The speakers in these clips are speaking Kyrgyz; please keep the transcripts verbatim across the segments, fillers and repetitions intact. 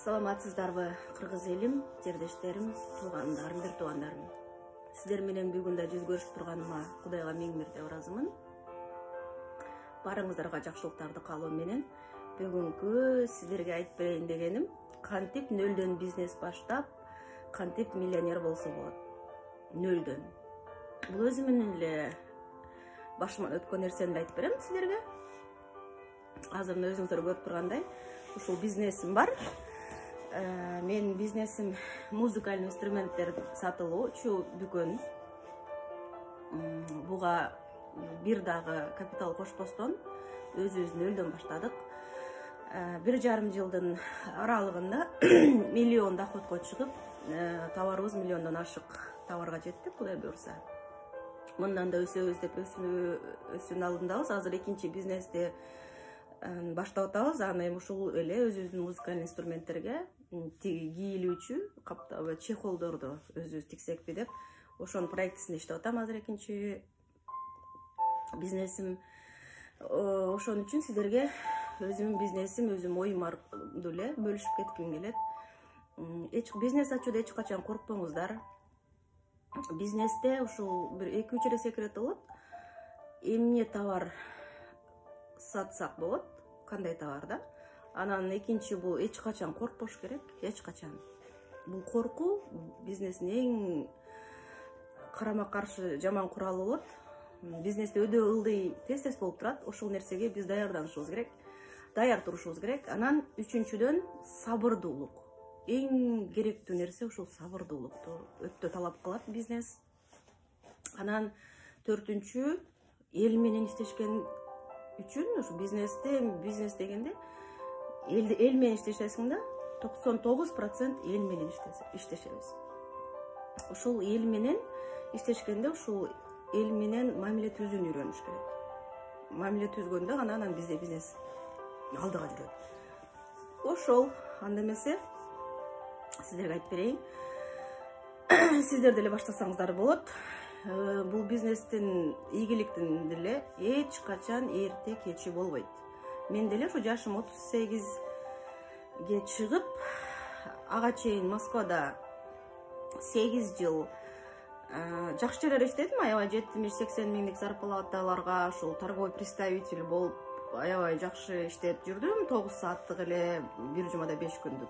Саламатсыздарбы, кыргыз элим, жердештерим, туугандарым, бир туугандарым. Сиздер менен бүгүн да жүз көрүшүп турганыма Кудайга миң мирде ыраазымын. Барыңыздарга жакшылыктарды каалоо менен бүгүнкү сиздерге айтып берейин дегеним, кантип нөлдөн бизнес баштап, кантип миллионер болсо болот. Нөлдөн. Бул өзүмдүн эле башыман өткөн нерсени айтып берем сиздерге. Азыр өзүңүздөр көрүп тургандай, ушул бизнесим бар. Мен бизнесим музыкалдык инструменттер сатылуучу дүкөн. Буга бир дагы капитал кошпостон өзүбүз нөлдөн баштадык. Бир жарым жылдын аралыгында миллион доходко чыгып, товарыбыз миллиондон ашык товарга жеттик, Кудай буйрса. Мындан да өсөбүз деп өсүүнүн алдындабыз. Азыр экинчи бизнести баштап атабыз. Аны эми ушул эле өзүбүздүн музыкалдык инструменттерге кийилүүчү каптабы чехолдорду өзүбүз тиксекпи деп ошонун проектисин иштеп атам. Азыр экинчи бизнесим. Ошон үчүн сиздерге өзүмдүн бизнесим, өзүм оюмду эле бөлүшүп кетким келет. Эч бизнес ачууда эч качан коркпоңуздар. Бизнесте ушул бир эки үч эле секрет болот. Эмне товар сатсак болот, кандай товар да. Анан экинчи бул эч качан коркпош керек, эч качан. Бул коркуу бизнестин эң карама каршы жаман куралы болот. Бизнесте өдө ылдый тез-тез болуп турат. Ошол нерсеге биз даярданышыбыз керек, даяр турушубуз керек. Анан үчүнчүдөн сабырдуулук. Эң керектүү нерсе ушул сабырдуулукту өтө талап кылат бизнес. Анан төртүнчү, эл менен иштешкен үчүн ушу бизнесте, бизнес дегенде эл эл менен иштешесиң да, токсон тогуз процент эл менен иштешебиз. Ушул эл менен иштешкенде ушул эл менен мамиле түзүүнү үйрөнүш керек. Мамиле түзгөндө гана анан бизде бизнес алдыга жүрөт. Ошол, анда эмесе сиздерге айтып берейин. Сиздер деле баштасаңыздар болот. Бул бизнестин ийгиликтин деле эч качан эрте кечи болбойт. Мен деле ушу жашым отуз сегизге чыгып, ага чейин Москвада сегиз жыл жакшы жерлерде иштедим. Аябай жетимиш сексен миңдик зарплаталарга ушул торговый представитель болуп, аябай жакшы иштеп жүрдүм. тогуз сааттык эле, бир жумада беш күндүк.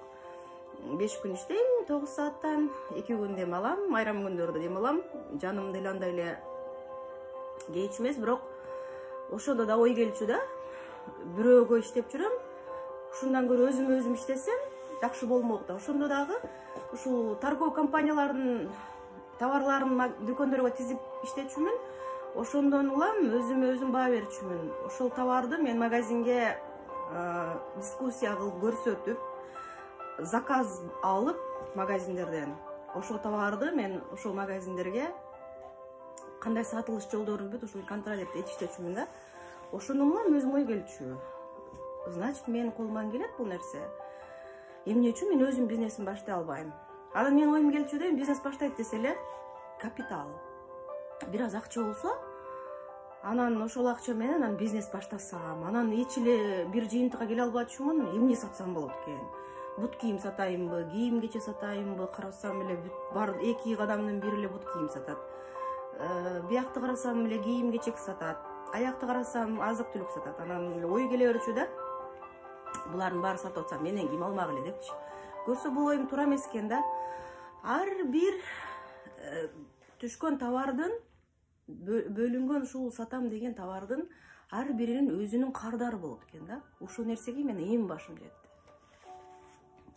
беш күн иштейм, тогуз сааттан, эки күн дем алам, айрым күндөрдө дем алам. Жаным деле андай эле кеч эмес, бирок ошондо да ой келчү да. Бирөөгө иштеп жүрөм. Ушундан көрө өзүм өзүм иштесем, жакшы болмок да. Ошондо дагы ушул торговый компаниялардын товарларын дүкөндөргө тизип иштечүмүн. Ошондон улам өзүм өзүм баа берчүмүн. Ошол товарды мен магазинге дискуссия кылып көрсөтүп, заказ алып магазиндерден, ошол товарды мен ошол магазиндерге кандай сатылыш жолдорун бүт ушул контроль этиштечүмүн да. Ошондон улам өзүм ой келчү. Значит, мен колуман келет бул нерсе. Эмне үчүн мен өзүм бизнесин баштай албайм? Анан мен оюм келчү да, бизнес баштайт десе эле капитал, бир аз акча болсо, анан ошол акча менен анан бизнес баштасам, анан эч эле бир жыйынтыкка келе албачумун, эмне сатсам болот экен? Бут кийим сатайынбы, кийим кече сатайынбы, карасам эле бар эки адамдын бири эле бут кийим сатат. Биякты карасам эле кийим кечек сатат. Аякты карасам азык түлүк сатат. Анан ой келе берчү да. Булардын баары сатып атсам менен ким алмак эле депчи. Көрсө бул оюм туура эмес экен да. Ар бир түшкөн товардын, бөлүнгөн ушул сатам деген товардын ар биринин өзүнүн кардары болот экен да. Ушул нерсеге мен эң башым жетти.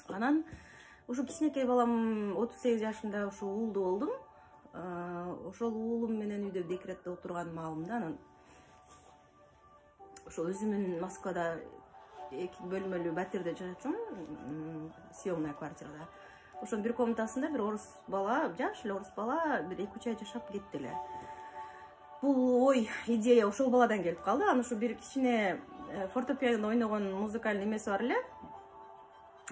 Анан ушу кичинекей балам отуз сегиз жашымда ушу уулду болдум. Ошол уулум менен үйдө декретте отурган маалымда анан ошол өзүмүн Москвада эки бөлмөлүү батирде жашачумун, съемная квартирада. Ошонун бир комнатасында бир орус бала, жаш эле орус бала, бир эки үч ай жашап кетти эле. Бул ой, идея ошол баладан келип калды. Анан ушу бир кичине фортепиано ойногон музыкалдык эмеси бар эле,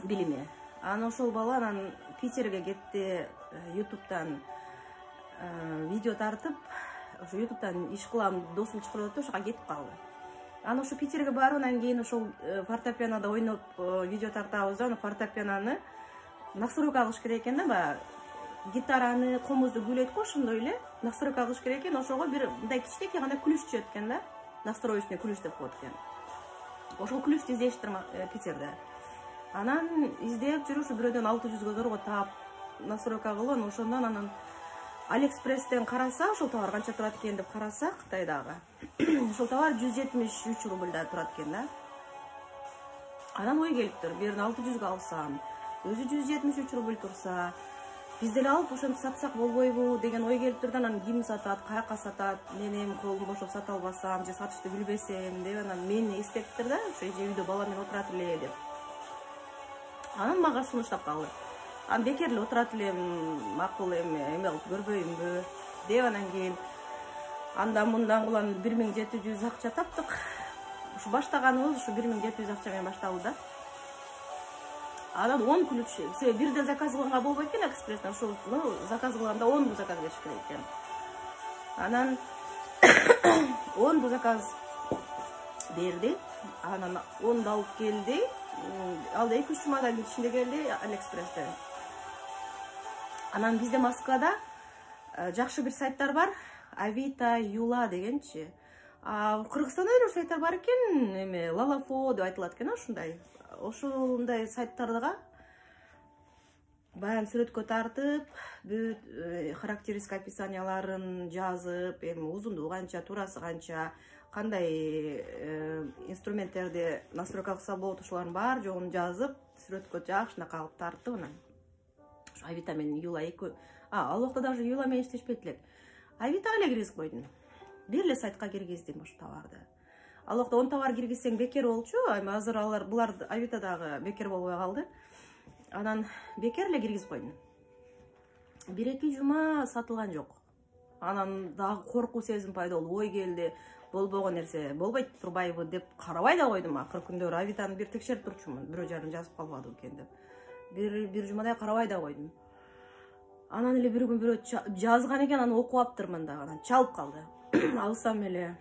билими. Анан ошол бала анан Питерге кетти, ютубтан видео тартып, ошо ютубтан иш кылам, досум чакырып атты, ошого кетип калды. Анан ушу Питерге баргандан кийин ошол фортепианода ойноп видео тартабыз да, фортепианоны настройка кылыш керек экен да, баягы гитараны, комузду күйлөйт го, ошондой эле настройка кылыш керек экен. Ошого бир мындай кичинекей гана ключ түшөт экен да. Настроечный ключ деп коет экен. Ошол ключту издештир Питерде. Анан издеп жүрүп, ушу бирөөдөн алты жүзгө зорго таап настройка кылган. Ошондон анан Алиэкспресстен караса, ошол товар канча турат экен деп караса, Кытайдагы. Ошол товар жүз жетимиш үч рубльда турат экен да. Анан ой келиптир, бирин алты жүзгө алсам, өзү жүз жетимиш үч рубль турса, биз деле алып ошентип сатсак болбойбу деген ой келиптир да. Анан ким сатат, каяка сатат, мен эми колум бошоп сата албасам же сатышты билбесем деп анан мени эстептир да, ошо эже үйдө бала менен отурат эле деп. Анан мага сунуштап калды. Анан бекер эле отурат элем, макул эми эме кылып көрбөйүмбү деп анан кийин андан мындан кылып бир миң жети жүз акча таптык. Ушу баштаганыбыз ушу бир миң жети жүз акча менен башталды да. Анан он ключ, себеби бирден заказ кылганга болбойт экен Алиэкспресстен, ошол заказ кылганда он бу заказ бериш керек экен. Анан он бу заказ берди. Анан онду алып келди. Ал эки үч жумадан ичинде келди Алиэкспресстен. Анан бизде Москвада жакшы бир сайттар бар, Авито, Юла дегенчи. А Кыргызстанда эле сайттар бар экен, эме Лалафо деп айтылат экен, ушундай. Ошондой сайттарга баян сүрөткө тартып, бүт характеристика описанияларын жазып, эми узундугу канча, турасы канча, кандай инструменттерди настройка кылса болот, ошолордун бар жогун жазып, сүрөткө жакшынакай кылып тартып, анан ошо Авито менен Юла эки, а ал убакта даже Юла менен иштешпейт элек. Авитога эле киргизип койдум. Бир эле сайтка киргиздим ошо товарды. Ал убакта он товар киргизсең бекер болчу, эми азыр алар булар Авитодагы бекер болбой калды. Анан бекер эле киргизип койдум. бир эки жума сатылган жок. Анан дагы коркуу сезим пайда болду, ой келди, болбогон нерсе болбойт турбайбы деп карабай да койдум. Акыр күндөр Авитону бир текшерип турчумун, бирөө жарым жазып калбады экен деп. Бир бир жумадай карабай да койдум. Анан эле бир күн бирөө жазган экен, аны окуп аптырмын дагы, анан чалып калды. Алсам эле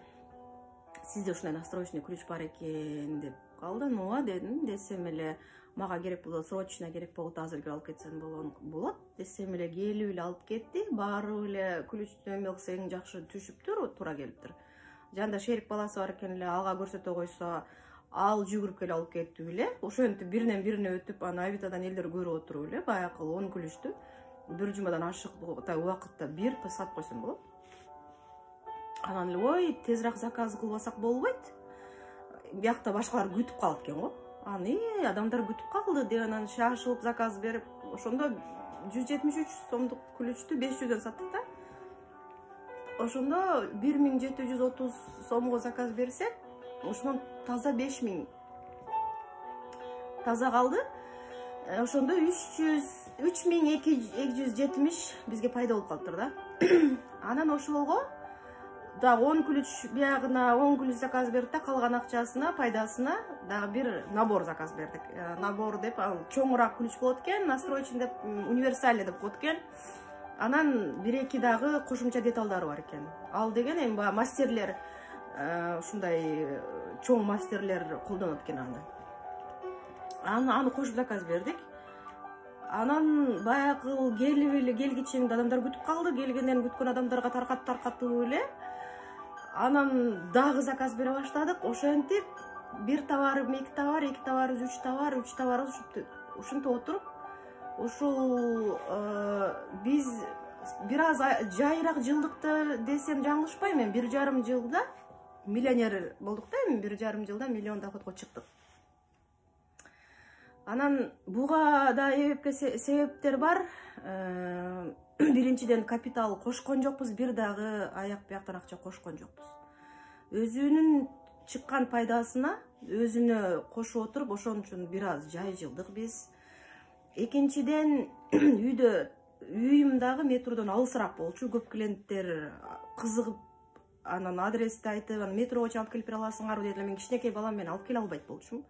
сизде ушундай настроечный ключ бар экен деп калды. Ооба дедим, десем эле мага керек болот, срочно керек болот, азыр келип алып кетсең болот десем эле келип эле алып кетти. Баары эле ключту эме кылса эң жакшы түшүптүр, туура келиптир. Жанында шерик баласы бар экен эле, ага көрсөтө койсо, ал жүгүрүп келип алып кетип эле. Ошентип биринен бирине өтүп, анан Авитодан элдер көрүп отуруп эле баягы он ключту бир жумадан ашык убакытта бир сатып койсом болот. Анан эле ой, тезирээк заказ кылбасак болбойт. Биякта башкалар күтүп калат экен го. Анан э, адамдар күтүп калды деп анан шашылып заказ берип, ошондо жүз жетимиш үч сомдук ключту беш жүздөн саттык да. Ошондо бир миң жети жүз отуз сомго заказ берсек, ошондон таза беш миң таза калды. Ошондо үч миң эки жүз жетимиш бизге пайда болуп калыптыр да. Анан ошолго дагы он ключ биягына он ключ заказ бердик да, калган акчасына, пайдасына дагы бир набор заказ бердик. Набор деп ал чоңураак ключ болот экен, настроечный деп, универсальный деп коет экен. Анан бир эки дагы кошумча деталдары бар экен. Ал деген эми баягы мастерлер, ушундай чоң мастерлер колдонот экен аны. Аны аны кошуп заказ бердик. Анан баягы келип эле келгичинде адамдар күтүп калды, келгенден күткөн адамдарга таркат таркатып эле. Анан дагы заказ бере баштадык. Ошентип бир товарым эки товар, эки товарыбыз үч товар, үч товарыбыз ушинтип отуруп, ушул биз бир аз жайыраак жылдыкты десем жаңылышпайм, мен бир жарым жылда миллионер болдук да, эми бир жарым жылда миллион доходго чыктык. Анан буга да себептер бар. Биринчиден капитал кошкон жокпуз, бир дагы аяк бияктан акча кошкон жокпуз. Өзүнүн чыккан пайдасына өзүнө кошуп отуруп, ошон үчүн бир аз жай жылдык биз. Экинчиден үйдө үйүм дагы метродон алысыраак болчу, көп клиенттер кызыгып, анан адрести айтып, анан метрого чалып келип бере аласыңарбы дедилер. Мен кичинекей балам менен алып келе албайт болчумун.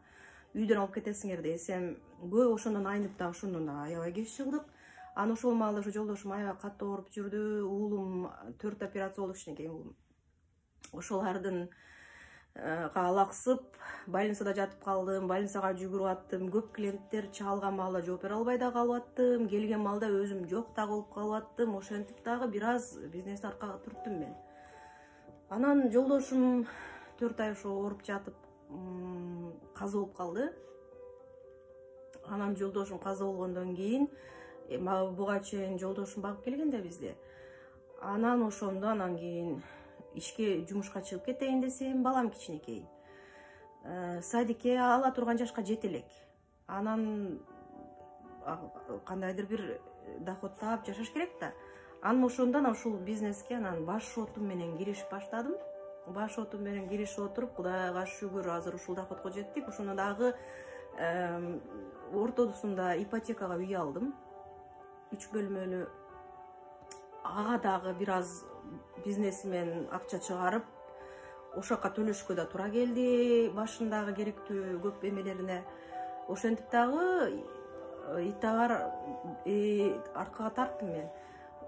Үйдөн алып кетесиңер десем, көп ошондон айнып да ошондон аябай кеч чыгдык. Анан ошол маалда ошо жолдошум аябай катуу ооруп жүрдү. Уулум төрт операция болду, кичинекей уулум. Ошолардын алаксып больницада жатып калдым, больницага жүгүрүп аттым, көп клиенттер чалган маалда жооп бере албай да калып аттым, келген маалда өзүм жок да болуп калып аттым. Ошентип дагы бир аз бизнести аркага түрттүм мен. Анан жолдошум төрт ай ошо ооруп жатып каза болуп калды. Анан жолдошум каза болгондон кийин буга чейин жолдошум багып келген да бизди. Анан ошондо анан кийин ишке жумушка чыгып кетейин десем, балам кичинекей. Садикке ала турган жашка жете элек. Анан кандайдыр бир доход таап жашаш керек да. Анан ошондон ушул бизнеске анан баш шотум менен киришип баштадым. Баш шотум менен киришип отуруп, Кудайга шүгүр, азыр ушул доходго жеттик. Ошондо дагы ортодусунда ипотекага үй алдым. үч бөлмөлүү. Ага дагы бир аз бизнесимен акча чыгарып, ошол жака төлөшкө да туура келди. Башындагы керектүү көп эмелерине. Ошентип дагы итабар аркага тарттым мен.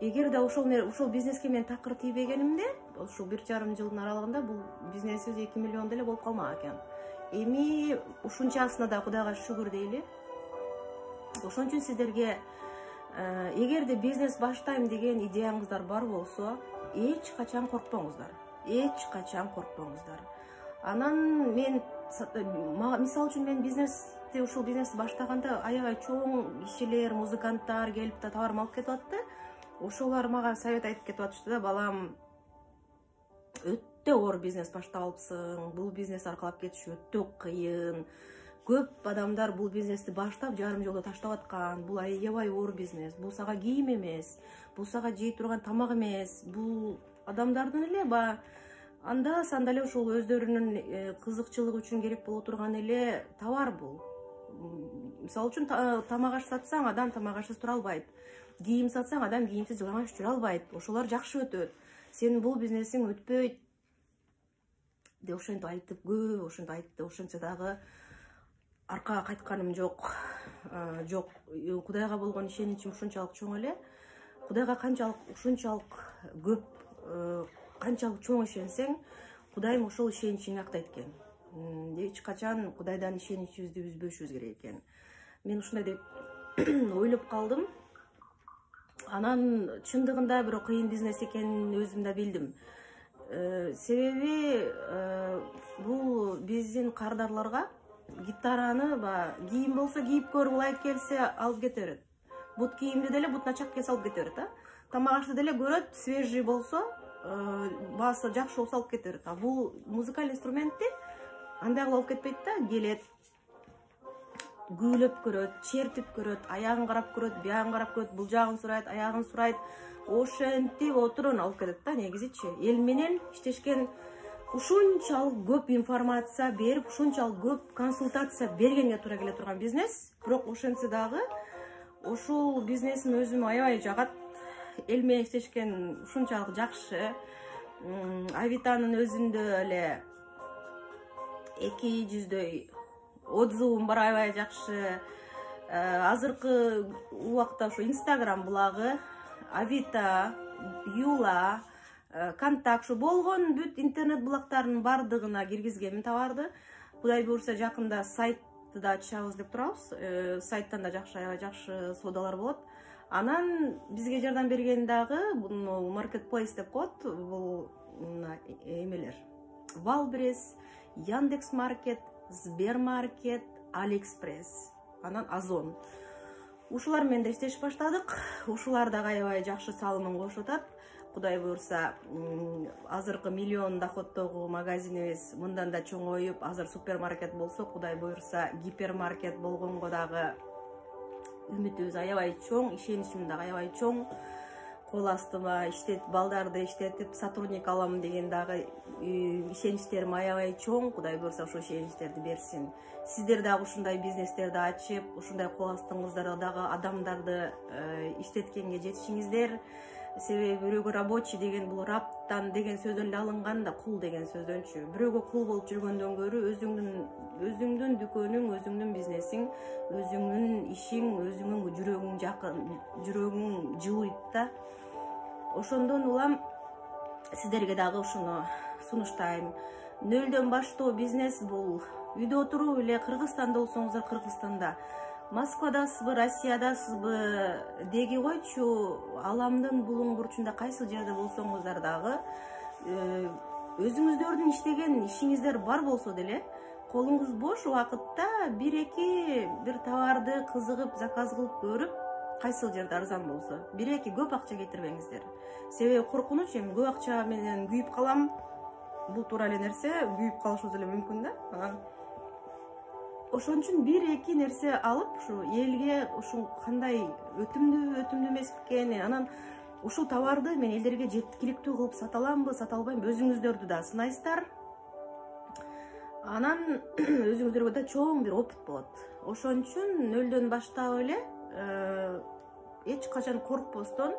Эгерде ошол ошол бизнеске мен такыр тийбегенимде, ушул бир жарым жылдын аралыгында бул бизнесибиз эки миллион деле болуп калмак экен. Эми ушунчасына да Кудайга шүгүр дейли. Ошон үчүн сиздерге эгерде бизнес баштайм деген идеяңыздар бар болсо, эч качан коркпоңуздар. Эч качан коркпоңуздар. Анан мен мисалы үчүн мен бизнести ушул бизнести баштаганда аябай чоң кишилер, музыканттар келип да товарым алып кетип атты. Ошолар мага совет айтып кетип атышты да, балам, өтө оор бизнес баштап алыпсың. Бул бизнес аркалап кетиш өтө кыйын. Көп адамдар бул бизнести баштап жарым жолдо таштап аткан. Бул аябай оор бизнес. Бул сага кийим эмес, бул сага жей турган тамак эмес. Бул адамдардын эле ба анда санда эле ушул өздөрүнүн кызыкчылыгы үчүн керек боло турган эле товар бул. Мисалы үчүн тамак аш сатсаң, адам тамак ашсыз тура албайт. Кийим сатсаң, адам кийимсиз жалаңаш жүрө албайт. Ошолор жакшы өтөт. Сенин бул бизнесиң өтпөйт деп ошентип айтып, көп ошентип айтты. Ошентсе дагы аркага кайтканым жок. Жок, Кудайга болгон ишеничим ушунчалык чоң эле. Кудайга канчалык ушунчалык көп, канчалык чоң ишенсең, Кудайым ошол ишеничиңди актайт экен. Эч качан Кудайдан ишеничибизди үзбөшүбүз керек экен. Мен ушундай деп ойлоп калдым. Анан чындыгында бирок кыйын бизнес экенин өзүм да билдим. Себеби бул биздин кардарларга гитараны ба кийим болсо кийип көр, ылайык келсе алып кете берет. Бут кийимди деле бутуна чак келсе алып кете берет, а? Тамак ашты деле көрөт, свежий болсо, баасы жакшы болсо алып кете берет. А бул музыкалдык инструментти андай кылып алып кетпейт да, келет, күүлөп көрөт, чертип көрөт, аягын карап көрөт, биягын карап көрөт, бул жагын сурайт, аягын сурайт. Ошентип отурун алып кетет да, негизичи. Эл менен иштешкен ушунчалык көп информация берип, ушунчалык көп консультация бергенге туура келе турган бизнес. Бирок ошентсе дагы ушул бизнесим өзүм аябай жагат. Эл менен иштешкен ушунчалык жакшы. Авитанын өзүндө эле эки жүздөй отзывым бар, аябай жакшы. Азыркы убакта ошо Instagram булагы, Авито, Юла, Контакт, ушу болгон бүт интернет булактарынын бардыгына киргизгенмин товарды. Кудай буйрса жакында сайтты да ачабыз деп турабыз. Сайттан да жакшы, аябай жакшы соодалар болот. Анан бизге жардам берген дагы бул маркетплейс деп коет. Бул эмелер: Валбрес, Яндекс.Маркет, Сбермаркет, Алиэкспресс, анан Озон. Ушулар менен да иштешип баштадык. Ушулар дагы аябай жакшы салымын кошуп атат. Кудай буйрса, азыркы миллион доходдогу магазинибиз мындан да чоңоюп, азыр супермаркет болсо, Кудай буйрса, гипермаркет болгонго дагы үмүтүбүз аябай чоң, ишеничим дагы аябай чоң. Кол астыма иштет, балдарды иштетип, сотрудник алам деген дагы ишеничтерим аябай чоң. Кудай буйрса, ошол ишеничтерди берсин. Сиздер дагы ушундай бизнестерди ачып, ушундай кол астыңыздарда дагы адамдарды иштеткенге жетишиңиздер. Себеби бирөөгө рабочий деген бул раптан деген сөздөн эле алынган да, кул деген сөздөнчү. Бирөөгө кул болуп жүргөндөн көрө өзүңдүн өзүңдүн дүкөнүң, өзүңдүн бизнесиң, өзүңдүн ишиң, өзүңдүн жүрөгүң жакын, жүрөгүң жылыйт да. Ошондон улам сиздерге дагы ушуну сунуштайм. нөлдөн баштоо бизнес бул. Үйдө отуруп эле Кыргызстанда болсоңуздар Кыргызстанда, Москвадасызбы, Россиядасызбы деги койчу, аламдын булуң бурчунда кайсы жерде болсоңуздар дагы өзүңүздөрдүн иштеген ишиңиздер бар болсо деле, колуңуз бош убакытта бир-эки бир товарды кызыгып, заказ кылып көрүп, кайсы жерде арзан болсо, бир-эки көп акча кетирбеңиздер. Себеби коркунуч, эми көп акча менен күйүп калам. Бул туура эле нерсе, күйүп калышыбыз эле мүмкүн да. Ошон үчүн бир-эки нерсе алып, ушу элге ушул кандай өтүмдүү, өтүмдүү эмес экени, анан ушул товарды мен элдерге жеткиликтүү кылып сата аламбы, сата албаймбы, өзүңүздөрдү да сынайсыздар. Анан өзүңүздөргө да чоң бир опыт болот. Ошон үчүн нөлдөн баштап эле эч качан коркпостон,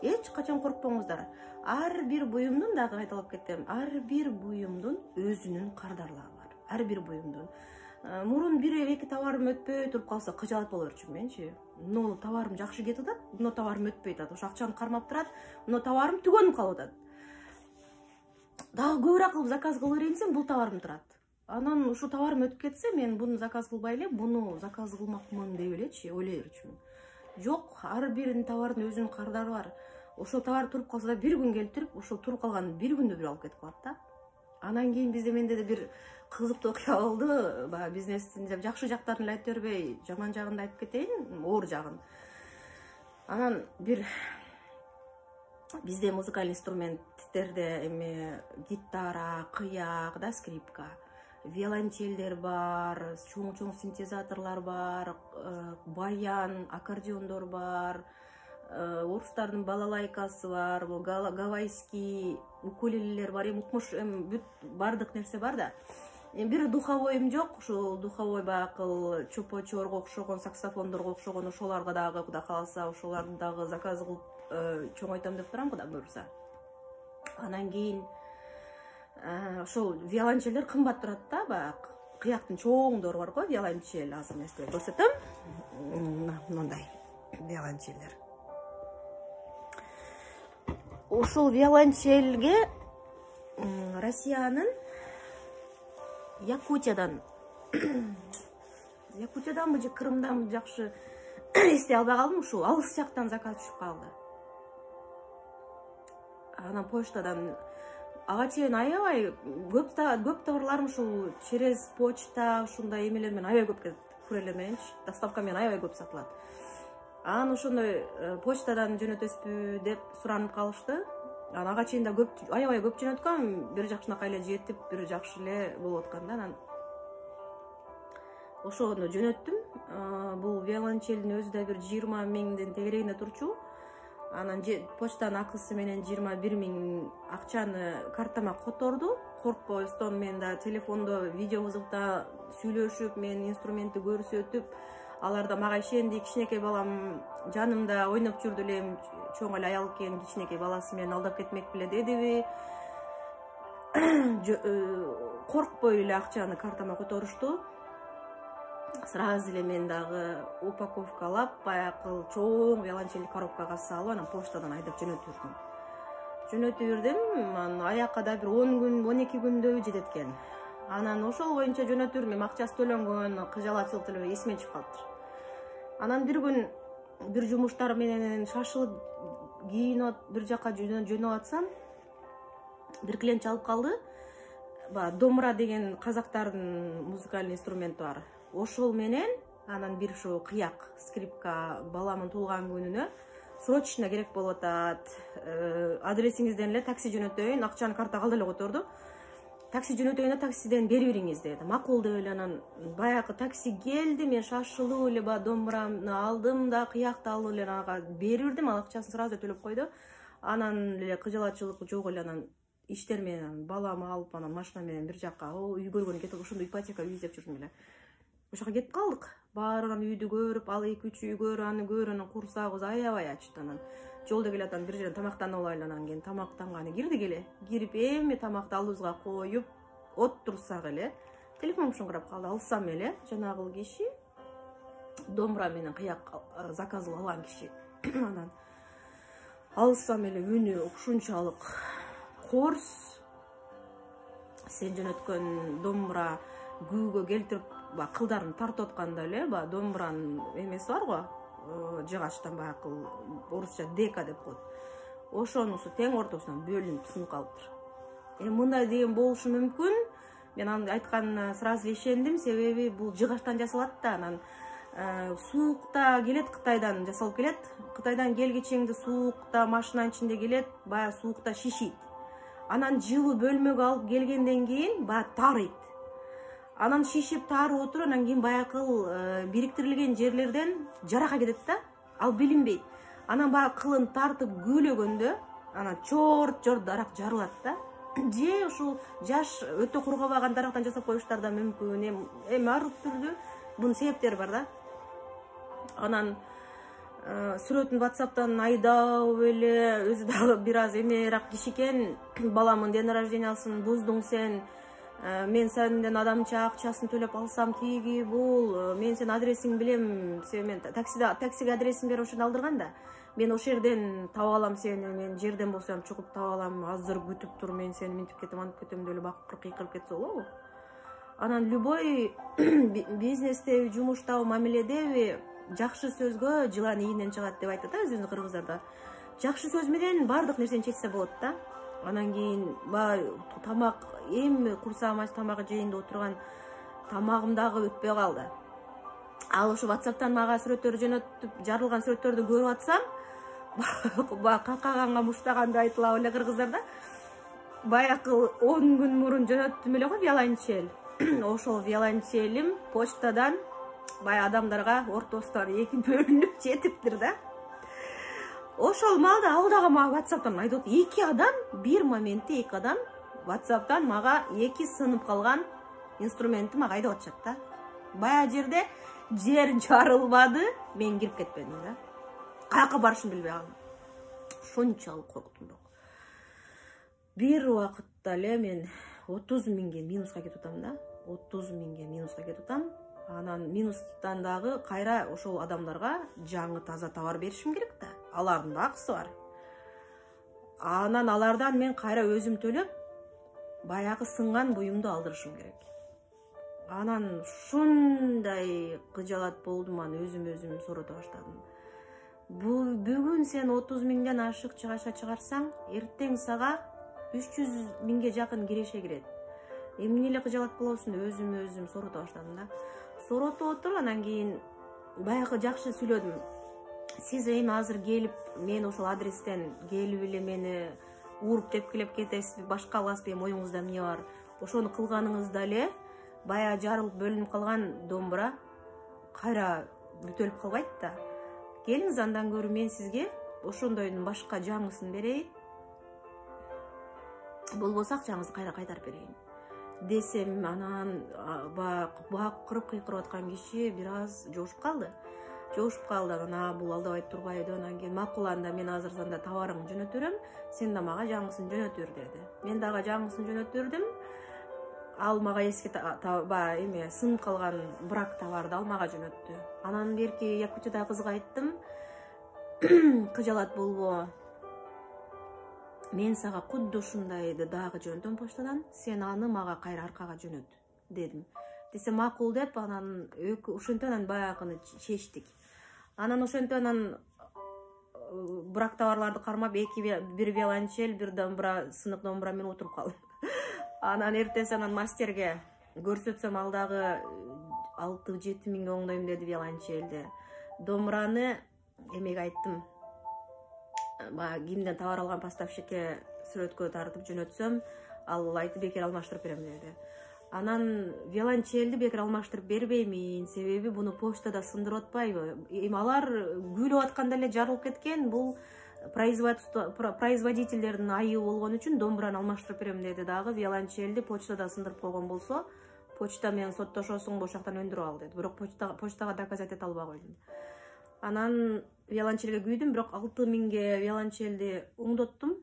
эч качан коркпоңуздар. Ар бир буюмдун, дагы кайталап кетем, ар бир буюмдун өзүнүн кардарлыгы бар. Ар бир буюмдун. Мурун бир-эки товарым өтпөй туруп калса кыжалат боло берчүмүн менчи. Мына товарым жакшы кетип атат, мына товарым өтпөй атат, ошо акчаны кармап турат, мына товарым түгөнүп калып атат. Дагы көбүрөөк кылып заказ кыла берейин десем, бул товарым турат. Анан ушу товарым өтүп кетсе, мен буну заказ кылбай эле, буну заказ кылмакмын деп элечи, ойлой берчүмүн. Жок, ар бир товардын өзүнүн кардары бар. Ошол товар туруп калса да бир күн келип, ошол туруп калган бир күндө бир алып кетип калат да. Анан кийин бизде менде да бир кызыктуу окуя болду. Баягы бизнестин жакшы жактарын эле айтып бербей, жаман жагын да айтып кетейин, оор жагын. Анан бир бизде музыкалдык инструменттерде эми гитара, кыяк да, скрипка, виолончелдер бар, чоң-чоң синтезаторлор бар, баян, аккордеондор бар, орустардын балалайкасы бар, гавайский укулелелер бар, эми укмуш эми бардык нерсе бар да. Эми бир духовойум жок, ушул духовой баягы чопочорго окшогон, саксофондорго окшогон ошолорго дагы кудай кааласа, ошолорду дагы заказ кылып чоңойтам деп турам, кудай буюрса. Анан кийин ошол виолончелдер кымбат турат да, баягы кыяктын чоңдору бар го, виолончель, азыр мен сизге көрсөтөм. Мындай виолончелдер. Ушул виолончельге Россиянын Якутиядан, Якутияданбы же Крымданбы жакшы эстей албай калдым, ушул алыс жактан заказ түшүп калды. Анан почтадан ага чейин аябай көп көп товарларым ушул через почта, ушундай эмелер менен аябай көп кетет, курьерлер мененчи, доставка менен аябай көп сатылат. Анан ошондой почтадан жөнөтөсүзбү деп суранып калышты. Анан ага чейин да көп, аябай көп жөнөткөм, бир жакшынакай эле жетип, бир жакшы эле болуп аткан да. Анан ошону жөнөттүм. Бул виолончелдин өзү да бир жыйырма миңдин тегерегинде турчу. Анан почтанын акысы менен жыйырма бир миң акчаны картама которду. Коркпостон мен да телефондо видео кызыкта сүйлөшүп, мен инструментти көрсөтүп, алар да мага ишенди. Кичинекей балам жанымда ойноп жүрдү элем, чоң эле аял экен, кичинекей баласы менен алдап кетмек беле дедиби. Коркпой эле акчаны картама которушту. Сразу эле мен дагы упаковкалап, баягы чоң виолончель коробкага салып, анан почтадан айдап жөнөтүп жүрдүм. Жөнөтүп жүрдүм, анан аякка да бир он күн, он эки күндөй жетет экен. Анан ошол боюнча жөнөтүп жүрдүм, акчасы төлөнгөн, кыжалатчылык эле эсиме чыгып калыптыр. Анан бир күн бир жумуштар менен шашылып кийинип бир жака жөнөп атсам, бир клиент чалып калды. Ба домбыра деген казактардын музыкалдык инструменти бар. Ошол менен анан бир ушу кыяк, скрипка баламын туулган күнүнө срочно керек болуп атат. Адресиңизден эле такси жөнөтөйүн, акчаны картага алды эле которду. Такси жөнөтөйүн да таксиден берип бериңиз деди. Макул деп эле анан баягы такси келди, мен шашылып эле баягы домбурамды алдым да, кыякты алып эле ага берип бердим, ал акчасын сразу төлөп койду. Анан эле кыжалатчылык жок эле, анан иштер менен баламы алып анан машина менен бир жака, үй көргөнү кетип, ошондо ипотека үй издеп жүрдүм эле. Ошоко кетип калдык. Баарынан үйдү көрүп, ал эки үч үй көр, аны көр, анан курсагыбыз аябай ачты. Анан жолдо келатам, бир жерден тамактанып алайлы, анан кийин тамактанганы кирдик эле. Кирип эми тамакты алдыбызга коюп отурсак эле телефонум шыңгырап калды. Алсам эле жанагы киши, домбура менен кыяк заказ алган киши. Анан алсам эле үнү ушунчалык корс, сен жөнөткөн домбура күүгө келтирип баягы кылдарын тартып атканда эле баягы домбуранын эмеси бар го, жыгачтан баягы орусча дека деп коет. Ошонусу тең ортосунан бөлүнүп сынып калыптыр. Эми мындай деген болушу мүмкүн. Мен аны айтканына сразу ишендим, себеби бул жыгачтан жасалат да, анан суукта келет, Кытайдан жасалып келет. Кытайдан келгичеңди суукта машинанын ичинде келет, баягы суукта шишийт. Анан жылуу бөлмөгө алып келгенден кийин баягы тарыйт. Анан шишип тарып отуруп, анан кийин баягы бириктирилген жерлерден жарака кетет да, ал билинбейт. Анан баягы кылын тартып күлөгөндө, анан чорт-чорт дарак жарылат да. Же ушул жаш өтө кургабаган дарактан жасап коюштар да мүмкүн. Эми ар түрдүү бунун себептери бар да. Анан сүрөтүн WhatsApp'тан айдап эле, өзү дагы бир аз эмерак киши экен. Баламын ден рождениясын буздуң сен. Мен сенден адамча акчасын төлөп алсам тиги бул. Мен сен адресиң билем. Сен мен таксида таксиге адресин берип ошону алдырган да. Мен ошол жерден таба алам сени, мен жерден болсом чугуп таба алам, азыр күтүп тур, мен сени минтип кетем, антип кетем деп эле бакырып кыйкырып кетсе болобу? Анан любой бизнестеби, жумуштабы, мамиледеби жакшы сөзгө жылан ийинен чыгат деп айтат да өзүбүздүн кыргыздарда. Жакшы сөз менен баардык нерсени чечсе болот да. Анан кийин баягы тамак, эми курсагым ач тамак жейин деп отурган тамагым дагы өтпөй калды. Ал ошо WhatsApp'тан мага сүрөттөрдү жөнөтүп, жарылган сүрөттөрдү көрүп атсам, баягы какаганга муштаганды айтылабы эле кыргыздарда. Баягы он күн мурун жөнөттүм эле го виолончель. Ошол виолончелим почтадан баягы адамдарга ортосунан эки бөлүнүп жетиптир да. Ошол маалда ал дагы мага WhatsApp'тан айтып атат. Эки адам, бир моментте эки адам WhatsApp'тан мага эки сынып калган инструментти мага айдап атышат да. Баягы жерде жер жарылбады, мен кирип кетпедим да. Каяка барышымды билбей калдым. Ошончолук корктум бирок. Бир убакытта эле мен отуз миңге минуска кетип атам да. отуз миңге минуска кетип атам. Анан минустан дагы кайра ошол адамдарга жаңы таза товар беришим керек да. Алардын да акысы бар. Анан алардан мен кайра өзүм төлөп, баягы сынган буюмду алдырышым керек. Анан ушундай кыжалат болдум, анан өзүм өзүм сорото баштадым. Бул бүгүн сен отуз миңден ашык чыгаша чыгарсаң, эртең сага үч жүз миңге жакын киреше кирет. Эмне эле кыжалат болосуң деп өзүм өзүм сорото баштадым да. Сорото отуруп, анан кийин баягы жакшы сүйлөдүм. Сиз эми азыр келип, мен ошол адрестен келип эле мени уруп тепкилеп кетесизби, башка аласызбы, эми оюңузда эмне бар? Ошону кылганыңызда эле баягы жарылып бөлүнүп калган домбура кайра бүтөлүп калбайт да. Келиңиз, андан көрү мен сизге ошондойдун башка жаңысын берейин. Болбосо акчаңызды кайра кайтарып берейин десем, анан бакырып кыйкырып аткан киши бир аз жошуп калды. Жошуп калды, анан бул алдабай турбайбы, анан кийин макул, анда мен азыр санда товарыңды жөнөтүп берем, сен да мага жаңысын жөнөтүп бер деди. Мен дагы жаңысын жөнөтүп бердим. Ал мага эски баягы эме сынып калган брак товарды ал мага жөнөттү. Анан берки Якутияда кызга айттым, кыжалат болбо, мен сага кудду ушундайды дагы жөнөтөм почтадан, сен аны мага кайра аркага жөнөт дедим. Десе макул деп, анан ошентип анан баягыны чечтик. Анан ошентип анан брак товарларды кармап, эки бир виолончель, бир домбура, сынык домбура менен отуруп калдым. Анан эртеси анан мастерге көрсөтсөм, ал дагы алты жети миңге оңдойм деди виолончельди. Домбураны эмеге айттым, баягы кимден товар алган поставщикке сүрөткө тартып жөнөтсөм, ал айтты бекер алмаштырып берем деди. Анан виолончельди бекер алмаштырып бербеймин, себеби буну почтада сындырып атпайбы. Эми алар күлүп атканда эле жарылып кеткен, бул производительдердин айыбы болгон үчүн домбураны алмаштырып берем деди. Дагы виолончельди почтада сындырып койгон болсо, почта менен соттошосуң, ошол жактан өндүрүп ал деди. Бирок почтага доказать эте албай койдум. Анан виолончельге күйдүм, бирок алты миңге виолончельди оңдоттум.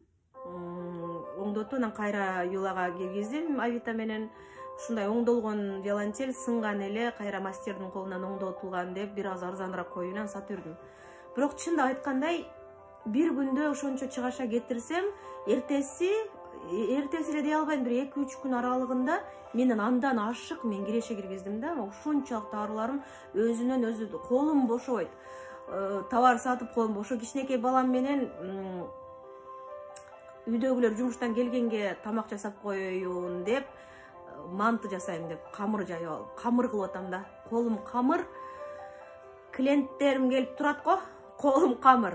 Оңдоттум, анан кайра юлага киргиздим Авито менен. Ушундай оңдолгон виолончель сынган эле, кайра мастердин колунан оңдотулган деп бир аз арзаныраак коюунан сатып жүрдүм. Бирок чындап айткандай, бир күндө ошончо чыгаша кетирсем, эртеси эртеси эле дей албайм, бир эки үч күн аралыгында менен андан ашык мен киреше киргиздим да. Ошончолук аруларым өзүнөн өзү, колум бошобойт. Товар сатып колум бошо. Кичинекей балам менен үйдөгүлөр жумуштан келгенге тамак жасап коеюн деп, манты жасайм деп камыр жайып алып, камыр кылып атам да. Колум камыр. Клиенттерим келип турат го, колум камыр.